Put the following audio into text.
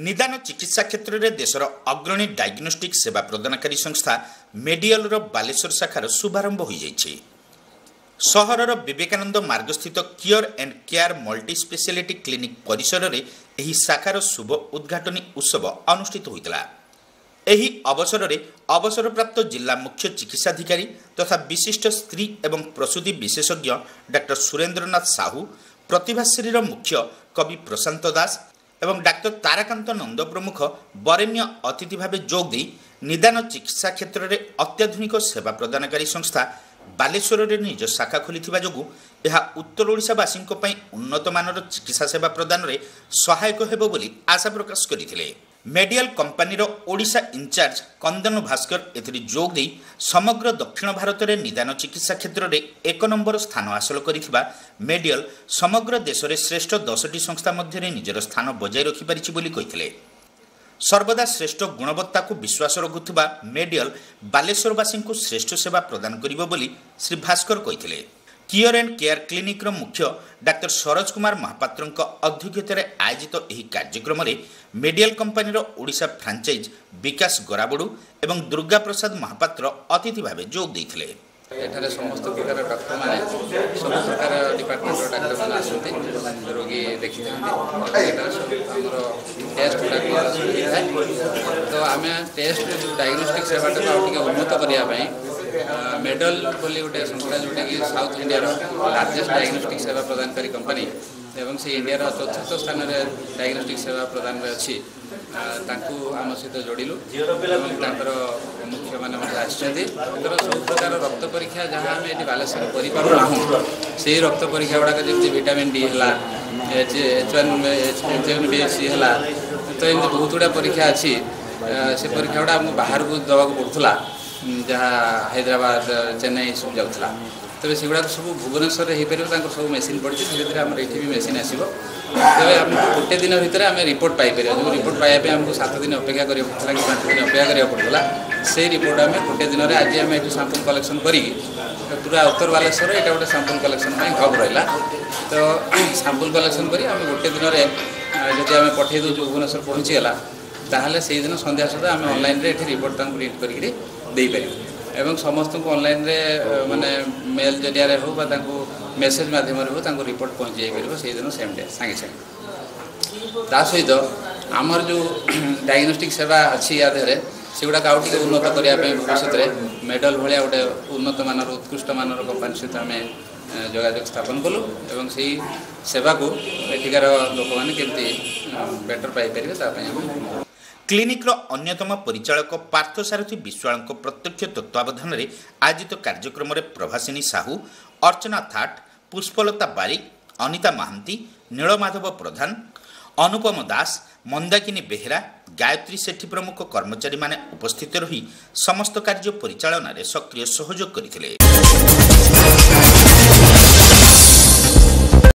ନିଦାନ ଚିକିତ୍ସା କ୍ଷେତ୍ରରେ ଦେଶର ଅଗ୍ରଣୀ ଡାଇଗ୍ନୋଷ୍ଟିକ୍ ସେବା ପ୍ରଦାନକାରୀ ସଂସ୍ଥା ମେଡିଆଲର ବାଲେଶ୍ୱର ଶାଖାର ଶୁଭାରମ୍ଭ ହୋଇଯାଇଛି। ସହରର Vivekananda ମାର୍ଗସ୍ଥିତ Cure and Care multi speciality clinic ପରିସରରେ ଏହି ଶାଖାର ଶୁଭ ଉଦ୍ଘାଟନୀ ଉତ୍ସବ ଅନୁଷ୍ଠିତ ହୋଇଥିଲା। ଏହି ଅବସରରେ ଅବସରପ୍ରାପ୍ତ ଜିଲ୍ଲା ମୁଖ୍ୟ ଚିକିତ୍ସାଧିକାରୀ ତଥା ବିଶିଷ୍ଟ ସ୍ତ୍ରୀ ଏବଂ ପ୍ରସୂତି ବିଶେଷଜ୍ଞ ଡାକ୍ତର ସୁରେନ୍ଦ୍ରନାଥ ସାହୁ, ପ୍ରତିଭାଶ୍ରୀର ମୁଖ୍ୟ କବି ପ୍ରଶାନ୍ତ ଦାସ ଏବଂ ଡାକ୍ତର ତାରାକାନ୍ତ ନନ୍ଦ ପ୍ରମୁଖ ବରେଣ୍ୟ ଅତିଥି ଭାବେ ଯୋଗ ଦେଇ ନିଦାନ ଚିକିତ୍ସା କ୍ଷେତ୍ରରେ ଅତ୍ୟାଧୁନିକ ସେବା ପ୍ରଦାନକାରୀ ସଂସ୍ଥା ବାଲେଶ୍ୱରରେ ନିଜ ଶାଖା ଖୋଲିଥିବା ଯୋଗୁଁ ଏହା ଉତ୍ତର ଓଡ଼ିଶାବାସୀଙ୍କ ପାଇଁ ଉନ୍ନତମାନର ଚିକିତ୍ସା ସେବା ପ୍ରଦାନରେ ସହାୟକ ହେବ ବୋଲି ଆଶା ପ୍ରକାଶ କରିଥିଲେ। ମେଡିଆଲ କମ୍ପାନୀର ଓଡ଼ିଶା ଇନଚାର୍ଜ କନ୍ଦନ ଭାସ୍କର ଏଥିରେ ଯୋଗ ଦେଇ ସମଗ୍ର ଦକ୍ଷିଣ ଭାରତରେ ନିଦାନ ଚିକିତ୍ସା କ୍ଷେତ୍ରରେ ଏକ ନମ୍ବର ସ୍ଥାନ ହାସଲ କରିଥିବା ମେଡିଆଲ ସମଗ୍ର ଦେଶରେ ଶ୍ରେଷ୍ଠ 10ଟି ସଂସ୍ଥା ମଧ୍ୟରେ ନିଜର ସ୍ଥାନ ବଜାୟ ରଖିପାରିଛି ବୋଲି କହିଥିଲେ। ସର୍ବଦା ଶ୍ରେଷ୍ଠ ଗୁଣବତ୍ତାକୁ ବିଶ୍ୱାସ ରଖୁଥିବା ମେଡିଆଲ ବାଲେଶ୍ୱରବାସୀଙ୍କୁ ଶ୍ରେଷ୍ଠ ସେବା ପ୍ରଦାନ କରିବ ବୋଲି ଶ୍ରୀ ଭାସ୍କର କହିଥିଲେ। କିଓର ଆଣ୍ଡ କେୟାର କ୍ଲିନିକ୍ର ମୁଖ୍ୟ ଡାକ୍ତର ସରୋଜ କୁମାର ମହାପାତ୍ରଙ୍କ ଅଧ୍ୟକ୍ଷତାରେ ଆୟୋଜିତ ଏହି କାର୍ଯ୍ୟକ୍ରମରେ ମେଡିଆଲ କମ୍ପାନୀର ଓଡ଼ିଶା ଫ୍ରାଞ୍ଚାଇଜ୍ ବିକାଶ ଗରାବଡୁ ଏବଂ ଦୁର୍ଗା ପ୍ରସାଦ ମହାପାତ୍ର ଅତିଥି ଭାବେ ଯୋଗ ଦେଇଥିଲେ। ଏଠାରେ ସମସ୍ତ ପ୍ରକାର ଡକ୍ଟରମାନେ, ସବୁ ପ୍ରକାର ଡିପାର୍ଟମେଣ୍ଟର ଡାକ୍ତରମାନେ ଆସନ୍ତି, ରୋଗୀ ଦେଖିଥାନ୍ତି। ଏଠାରେ ସବୁ ଆମର ଟେଷ୍ଟ ଗୁଡ଼ାକ ହେଇଥାଏ। ତ ଆମେ ଟେଷ୍ଟ ଯେଉଁ ଡାଇଗ୍ନୋଷ୍ଟିକ୍ ସେବାଟାକୁ ଆଉ ଟିକେ ଉନ୍ନତ କରିବା ପାଇଁ ମେଡଲ ବୋଲି ଗୋଟେ ସଂସ୍ଥା, ଯେଉଁଟାକି ସାଉଥ ଇଣ୍ଡିଆର ଲାର୍ଜେଷ୍ଟ ଡାଇଗ୍ନୋଷ୍ଟିକ୍ ସେବା ପ୍ରଦାନକାରୀ କମ୍ପାନୀ ଏବଂ ସେ ଇଣ୍ଡିଆର ଚତୁର୍ଥ ସ୍ଥାନରେ ଡାଇଗ୍ନୋଷ୍ଟିକ୍ ସେବା ପ୍ରଦାନରେ ଅଛି, ତାଙ୍କୁ ଆମ ସହିତ ଯୋଡ଼ିଲୁ ଏବଂ ତାଙ୍କର ମୁଖ୍ୟମାନେ ମଧ୍ୟ ଆସିଛନ୍ତି। ତାଙ୍କର ସବୁ ପ୍ରକାର ରକ୍ତ ପରୀକ୍ଷା ଯାହା ଆମେ ଏଠି ବାଲେଶ୍ୱରରେ କରିପାରୁନାହୁଁ, ସେଇ ରକ୍ତ ପରୀକ୍ଷା ଗୁଡ଼ାକ ଯେମିତି ଭିଟାମିନ୍ ଡି ହେଲା, H1 B C ହେଲା, ତ ଏମିତି ବହୁତ ଗୁଡ଼ା ପରୀକ୍ଷା ଅଛି। ସେ ପରୀକ୍ଷା ଗୁଡ଼ା ଆମକୁ ବାହାରକୁ ଦେବାକୁ ପଡ଼ୁଥିଲା, ଯାହା ହାଇଦ୍ରାବାଦ, ଚେନ୍ନାଇ ସବୁ ଯାଉଥିଲା। ତେବେ ସେଗୁଡ଼ାକ ସବୁ ଭୁବନେଶ୍ୱରରେ ହେଇପାରିବ। ତାଙ୍କର ସବୁ ମେସିନ୍ ପଡ଼ିଛି। ଧୀରେ ଧୀରେ ଆମର ଏଠି ବି ମେସିନ୍ ଆସିବ। ତେବେ ଆମକୁ ଗୋଟେ ଦିନ ଭିତରେ ଆମେ ରିପୋର୍ଟ ପାଇପାରିବା। ଯେଉଁ ରିପୋର୍ଟ ପାଇବା ପାଇଁ ଆମକୁ 7 ଦିନ ଅପେକ୍ଷା କରିବାକୁ ପଡ଼ୁଥିଲା କି 5 ଦିନ ଅପେକ୍ଷା କରିବାକୁ ପଡ଼ୁଥିଲା, ସେଇ ରିପୋର୍ଟ ଆମେ ଗୋଟେ ଦିନରେ, ଆଜି ଆମେ ଏଠୁ ସାମ୍ପୁଲ୍ କଲେକ୍ସନ୍ କରିକି, ପୁରା ଉତ୍ତର ବାଲେଶ୍ୱର ଏଇଟା ଗୋଟେ ସାମ୍ପୁଲ୍ କଲେକ୍ସନ୍ ପାଇଁ ହବ୍ ରହିଲା। ତ ସାମ୍ପୁଲ୍ କଲେକ୍ସନ୍ କରି ଆମେ ଗୋଟେ ଦିନରେ ଯଦି ଆମେ ପଠାଇ ଦେଉଛୁ, ଭୁବନେଶ୍ୱର ପହଞ୍ଚିଗଲା, ତାହେଲେ ସେଇଦିନ ସନ୍ଧ୍ୟା ସୁଦ୍ଧା ଆମେ ଅନଲାଇନ୍ରେ ଏଠି ରିପୋର୍ଟ ତାଙ୍କୁ ପ୍ରିଣ୍ଟ କରିକିରି ଦେଇପାରିବୁ ଏବଂ ସମସ୍ତଙ୍କୁ ଅନଲାଇନ୍ରେ, ମାନେ ମେଲ୍ ଜରିଆରେ ହେଉ ବା ତାଙ୍କୁ ମେସେଜ୍ ମାଧ୍ୟମରେ ହେଉ, ତାଙ୍କୁ ରିପୋର୍ଟ ପହଞ୍ଚି ଯାଇପାରିବ ସେଇଦିନ ସେମ୍ ଡେ, ସାଙ୍ଗେ ସାଙ୍ଗେ। ତା ସହିତ ଆମର ଯେଉଁ ଡାଇଗ୍ନୋଷ୍ଟିକ୍ ସେବା ଅଛି ୟା ଦେହରେ, ସେଗୁଡ଼ାକ ଆଉ ଟିକେ ଉନ୍ନତ କରିବା ପାଇଁ ଭବିଷ୍ୟତରେ ମେଡଲ ଭଳିଆ ଗୋଟେ ଉନ୍ନତ ମାନର, ଉତ୍କୃଷ୍ଟ ମାନର କମ୍ପାନୀ ସହିତ ଆମେ ଯୋଗାଯୋଗ ସ୍ଥାପନ କଲୁ ଏବଂ ସେଇ ସେବାକୁ ଏଠିକାର ଲୋକମାନେ କେମିତି ବେଟର ପାଇପାରିବେ, ତା ପାଇଁ ଆମେ କ୍ଲିନିକ୍ର ଅନ୍ୟତମ ପରିଚାଳକ ପାର୍ଥସାରଥୀ ବିଶ୍ୱାଳଙ୍କ ପ୍ରତ୍ୟକ୍ଷ ତତ୍ତ୍ୱାବଧାନରେ ଆୟୋଜିତ କାର୍ଯ୍ୟକ୍ରମରେ ପ୍ରଭାସିନୀ ସାହୁ, ଅର୍ଚ୍ଚନା ଥାଟ, ପୁଷ୍ପଲତା ବାରିକ, ଅନିତା ମହାନ୍ତି, ନୀଳମାଧବ ପ୍ରଧାନ, ଅନୁପମ ଦାସ, ମନ୍ଦାକିନୀ ବେହେରା, ଗାୟତ୍ରୀ ସେଠୀ ପ୍ରମୁଖ କର୍ମଚାରୀମାନେ ଉପସ୍ଥିତ ରହି ସମସ୍ତ କାର୍ଯ୍ୟ ପରିଚାଳନାରେ ସକ୍ରିୟ ସହଯୋଗ କରିଥିଲେ।